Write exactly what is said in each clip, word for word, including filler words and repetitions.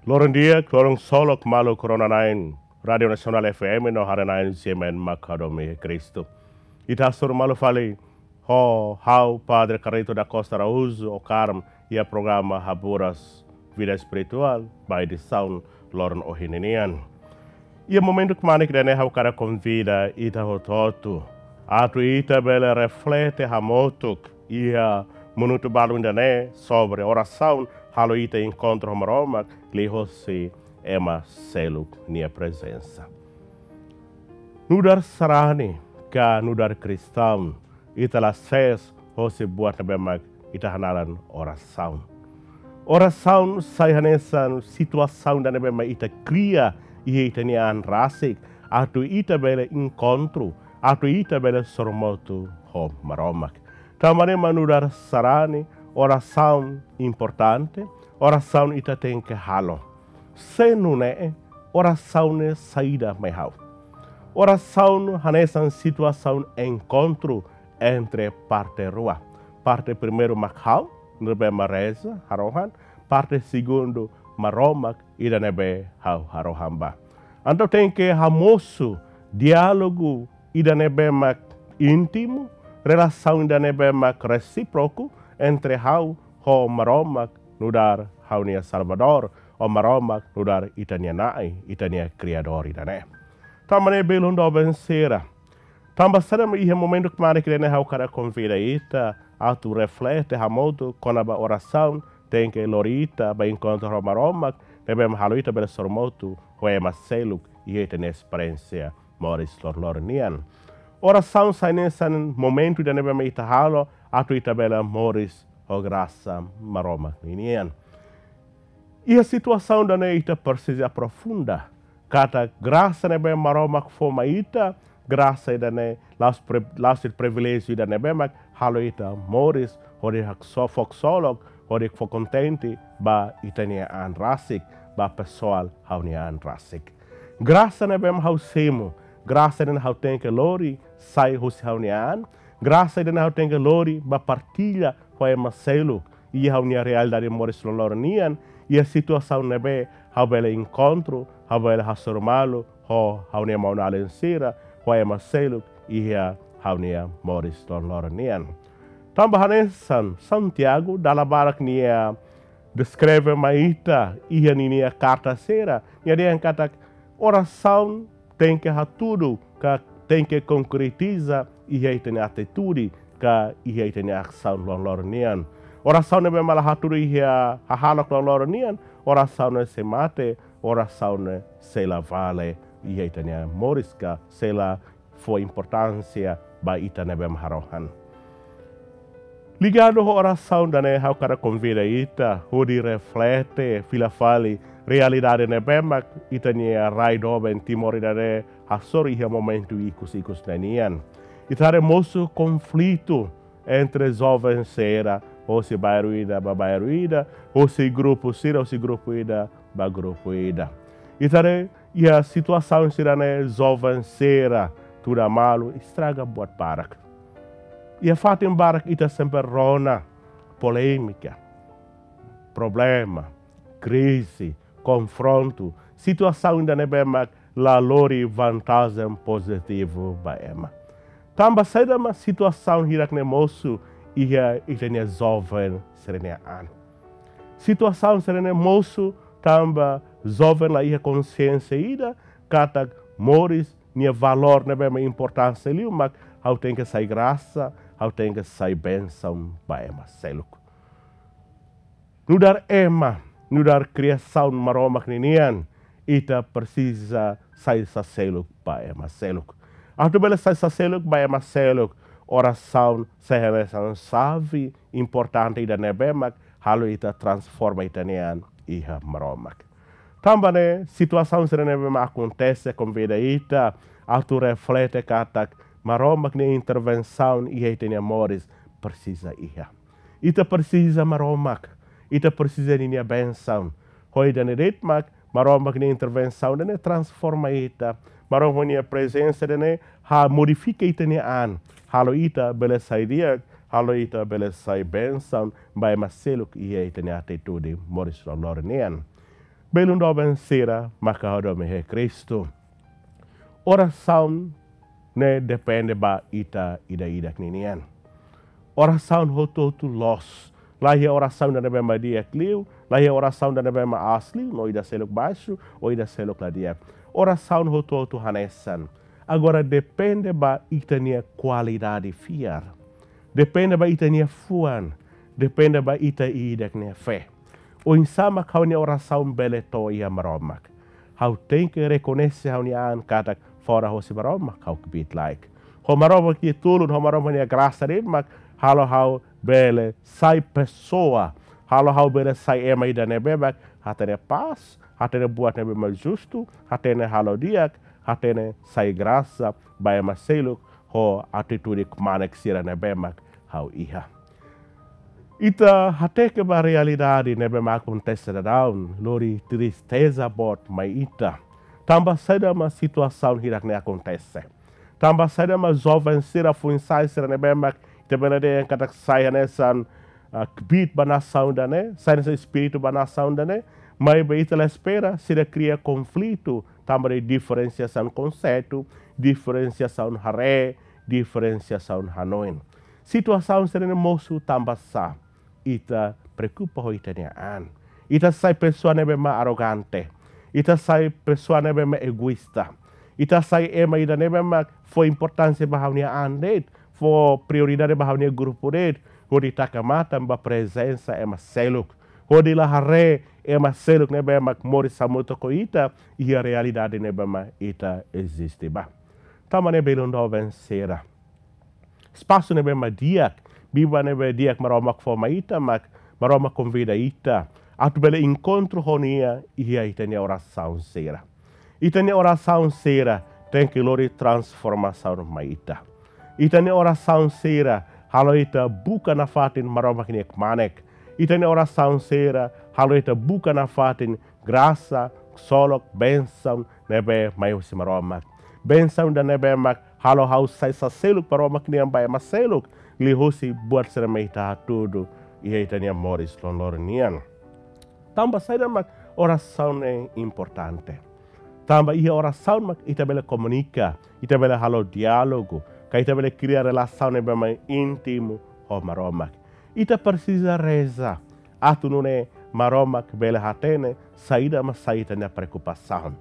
Loron di'ak, loron ksolok maluk rona-na'in Rádiu Nasionál F M no haree-na'in sira-ne'ebé mak hadomi iha Kristu. Ita hasoru malu fali ho ha'u Padre Carlito da Costa Araújo Ocaram iha programa Haburas Vida Espirituál ba edisaun loron ohin nian. Iha momentu kmanek ida-ne'e ha'u hakarak konvida ita hotu-hotu atu ita bele reflete hamutuk iha minutu balun ida-ne'e sobre orasaun halo ita enkontru ho Maromak liuhosi ema seluk nia prezensa. Nu'udar sarani ka nu'udar kristaun, ita la sees hosi buat ne'ebé mak ita hanaran orasaun. Orasaun sai hanesan situasaun ida ne'ebé mak ita kria iha ita-nia an rasik, atu ita bele enkontru, atu ita bele sorumutu ho Maromak. Tanba ne'e mak nu'udar sarani, orasaun importante, orasaun ita tenke halo. Se nune'e, orasaun ne'e saida mai ha'u? Orasaun hanesan situasaun enkontru entre parte rua. Parte primeiru mak ha'u, ne'ebé mak reza, harohan. Parte segundu, Maromak, ida ne'ebé ha'u harohan ba. Entaun tenke hamosu diálogu ida ne'ebé mak íntimu, relasaun ida ne'ebé mak resíproku entre ha'u ho Maromak nu'udar ha'u-nia Salvadór, ho Maromak nu'udar ita-nia Na'i, ita-nia Kriadór ida-ne'e. Tanba ne'e belun doben sira, tanba saida mak iha momentu kmanek ida-ne'e ha'u hakarak konvida ita atu reflete hamutuk kona-ba orasaun tenke lori ita ba enkontru ho Maromak, ne'ebé mak halo ita bele sorumutu ho ema seluk iha ita-nia esperiénsia moris loroloron nian. Orasaun sai hanesan momentu ida ne'ebé mak ita halo atu ita bele moris ho grasa Maromak ninian. Iha situasaun ida-ne'e ita presiza aprofunda katak grasa ne'ebé Maromak fó mai ita, grasa ida-ne'e la'ós pri-, la'ós de'it priviléjiu ida ne'ebé mak halo ita moris hodi haksolok, fó ksolok, hodi fó kontente ba ita-nia an rasik, ba pesoál ha'u-nia an rasik. Grasa ne'ebé mak ha'u simu, grasa ne'e ha'u tenke lori sai husi ha'u-nia an, grasa ida-ne'e ha'u tenke lori ba partilla ho ema seluk iha ha'u-nia realidade moris loroloron nian, iha situasaun ne'ebé ha'u bele enkontru, ha'u bele hasoru malu ho ha'u-nia maun-alin sira, ho ema seluk iha ha'u-nia moris loroloron nian. Tanba hanesan Santiago, dala barak nia deskreve mai ita iha ninia karta sira, nia dehan katak orasaun tenke hatudu ka tenke konkretiza iha ita-nia atitude ka iha ita-nia asaun loroloron nian. Orasaun ne'ebé mak la hatudu iha hahalok loroloron nian, orasaun ne'e sei mate, orasaun ne'e sei la vale iha ita-nia moris ka sei la fó importánsia ba ita ne'ebé mak harohan. Ligadu ho orasaun ida-ne'e ha'u hakarak konvida ita hodi reflete fila fali realidade ne'ebé mak ita-nia rai doben Timor ida-ne'e hasoru iha momentu ikus-ikus ne'e nian. Ita haree mosu konflitu entre joven sira, hosi bairru ida ba bairru ida, hosi grupu sira, hosi grupu ida ba grupu ida. Ita haree iha situasaun sira-ne'e joven sira tuda malu estraga buat barak. Iha fatin barak ita sempre rona polémika, problema, krize, konfrontu, situasaun ida ne'ebé mak la lori vantajen pozitivu ba ema. Tanba saida mak situasaun hirak-ne'e mosu iha ita-nia joven sira-nia an? Situasaun sira-ne'e mosu tanba joven la iha konxiénsia ida katak moris nia valór ne'ebé mak importánsia liu mak ha'u tenke sai grasa, ha'u tenke sai bensaun ba ema seluk. Nu'udar ema, nu'udar kriasaun Maromak ninian, ita presiza sai saseluk ba ema seluk. Atu bele sai saseluk ba ema seluk, orasaun sai hanesan xave importante ida ne'ebé mak halo ita transforma ita-nia an iha Maromak. Tanba ne'e, situasaun sira ne'ebé mak akontese konvida ita atu reflete katak Maromak nia intervensaun iha ita-nia moris presiza iha. Ita presiza Maromak, ita presiza ninia bensaun. Ho ida-ne'e de'it mak Maromak nia intervensaun ida-ne'e transforma ita. Maromak nia prezensa ida-ne'e halo modifika ita-nia an, halo ita bele sai di'ak, halo ita bele sai bensaun ba ema seluk iha ita-nia atitude moris loroloron nian. Belun doben sira, maka ho domin iha Kristu. Orasaun ne'e depende ba ita ida-idak ninian. Orasaun hotu-hotu loos. La iha orasaun ida ne'ebé mak di'ak liu, la iha orasaun ida ne'ebé mak aas liu, no ida seluk baixu, ou ida seluk la di'ak. Orasaun hotu-hotu hanesan. Agora depende ba ita-nia kualidade fiar. Depende ba ita-nia fuan. Depende ba ita ida-idak nia fé. Oinsá mak ha'u-nia orasaun bele to'o iha Maromak? Ha'u tenke rekoñese ha'u-nia an katak fora hosi Maromak ha'u kbiit-laek. Ho Maromak nia tulun, ho Maromak nia grasa de'it mak halo ha'u bele sai pesoa, halo ha'u bele sai ema ida ne'ebé mak hatene pás, hatene buat ne'ebé mak justu, hatene halo di'ak, hatene sai grasa ba ema seluk ho atitude kmanek sira ne'ebé mak ha'u iha. Ita hateke ba realidade ne'ebé mak akontese daudaun, lori tristeza boot mai ita. Tanba saida mak situasaun hirak-ne'e akontese? Tanba saida mak joven sira, foin-sa'e sira ne'ebé mak ita bele dehan katak sai hanesan, ah, kbiit ba nasaun ida-ne'e, sai hanesan espíritu ba nasaun ida-ne'e, maibé ita la espera, sira kria konflitu, tanba de'it diferensiasaun konseitu, diferensiasaun haree, diferensiasaun hanoin. Situasaun sira-ne'e mosu tanba sá? Ita preokupa ho ita-nia an. Ita sai pesoa ne'ebé mak arrogante. Ita sai pesoa ne'ebé mak egoísta. Ita sai ema ida ne'ebé mak fó importánsia ba ha'u-nia an de'it, fó prioridade ba ha'u-nia grupu de'it, hodi taka matan ba prezensa ema seluk. Hodi la haree ema seluk ne'ebé mak moris hamutuk ho ita iha realidade ne'ebé mak ita eziste ba. Tanba ne'e belun doben sira, espasu ne'ebé mak di'ak, biban ne'ebé di'ak Maromak fó mai ita mak, Maromak konvida ita atu bele enkontru ho Nia iha ita-nia orasaun sira. Ita-nia orasaun sira tenke lori transformasaun mai ita. Ita-nia orasaun sira halo ita buka nafatin Maromak nia kmanek. Ita-nia orasaun sira halo ita buka nafatin grasa, ksolok, bensaun ne'ebé mai husi Maromak. Bensaun ida ne'ebé mak halo ha'u sai saseluk Maromak nian ba ema seluk, liuhusi buat sira ne'ebé ita hatudu iha ita-nia moris loroloron nian. Tanba saida mak orasaun ne'e importante? Tanba iha orasaun mak ita bele komunika, ita bele halo diálogu, ka ita bele kria relasaun ne'ebé mak íntimu ho Maromak. Ita presiza reza atu nune'e Maromak bele hatene saida mak sai ita-nia preokupasaun.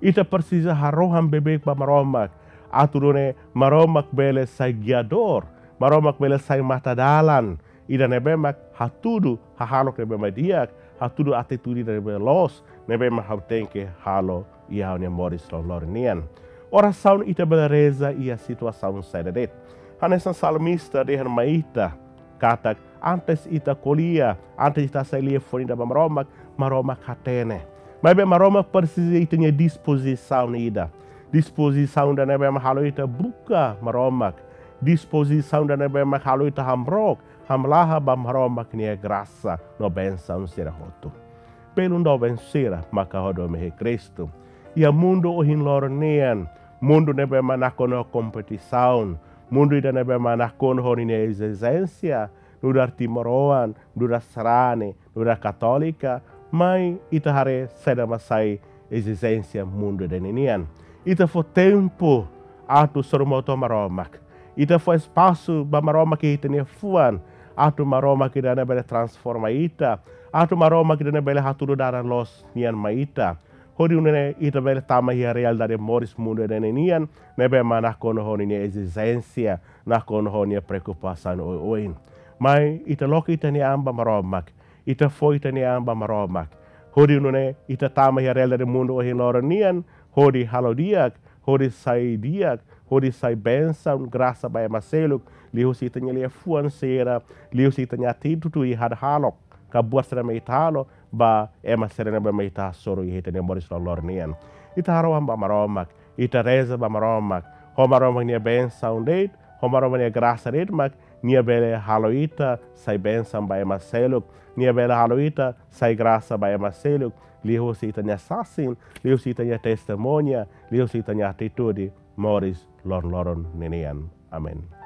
Ita presiza harohan beibeik ba Maromak atu nune'e Maromak bele sai giadór, Maromak bele sai matadalan ida ne'ebé mak hatudu hahalok ne'ebé mak di'ak, hatudu atitude ne'ebé loos ne'ebé mak ha'u tenke halo iha ha'u-nia moris loroloron nian. Orasaun ita bele reza iha situasaun saida de'it. Hanesan salmista dehan mai ita katak antes ita ko'alia, antes ita hasai liafuan ida ba Maromak, Maromak hatene. Maibé Maromak presiza ita-nia dispozisaun ida. Dispozisaun ida ne'ebé mak halo ita buka Maromak. Dispozisaun ida ne'ebé mak halo ita hamrook, hamlaha ba Maromak nia grasa no bensaun sira hotu. Belun doben sira, maka ho domin iha Kristu. Iha mundu ohin loron nian, mundu ne'ebé mak nakonu ho kompetisaun, mundu ida ne'ebé mak nakonu ho ninia ezijénsia, nu'udar timoroan, nu'udar sarani, nu'udar katólika, mai ita haree saida mak sai ezijénsia mundu ida-ne'e nian. Ita fó tempu atu sorumutu ho Maromak. Ita fó espasu ba Maromak iha ita-nia fuan, atu Maromak ida-ne'e bele transforma ita, atu Maromak ida-ne'e bele hatudu dalan loos nian mai ita. Hodi nune'e ita bele tama iha realidade moris mundu ida-ne'e nian, ne'ebé mak nakonu ho ninia ezijénsia, nakonu ho nia preokupasaun oioin. Mai ita loke ita-nia an ba Maromak, ita fó ita-nia an ba Maromak. Hodi nune'e ita tama iha realidade mundu ohin loron nian, hodi halo di'ak, hodi sai di'ak, hodi sai bensaun, grasa ba ema seluk, liuhusi ita-nia liafuan sira, liuhusi ita-nia atitude iha hahalok, ka buat sira ne'ebé ita halo ba ema sira ne'ebé mak ita hasoru iha ita-nia moris loroloron nian. Ita harohan ba Maromak, ita reza ba Maromak, ho Maromak nia bensaun de'it, ho Maromak nia grasa de'it mak nia bele halo ita sai bensaun ba ema seluk, nia bele halo ita sai grasa ba ema seluk, liuhusi ita-nia sasin, liuhusi ita-nia testemuña, liuhusi ita-nia atitude moris loroloron ninian. Amen.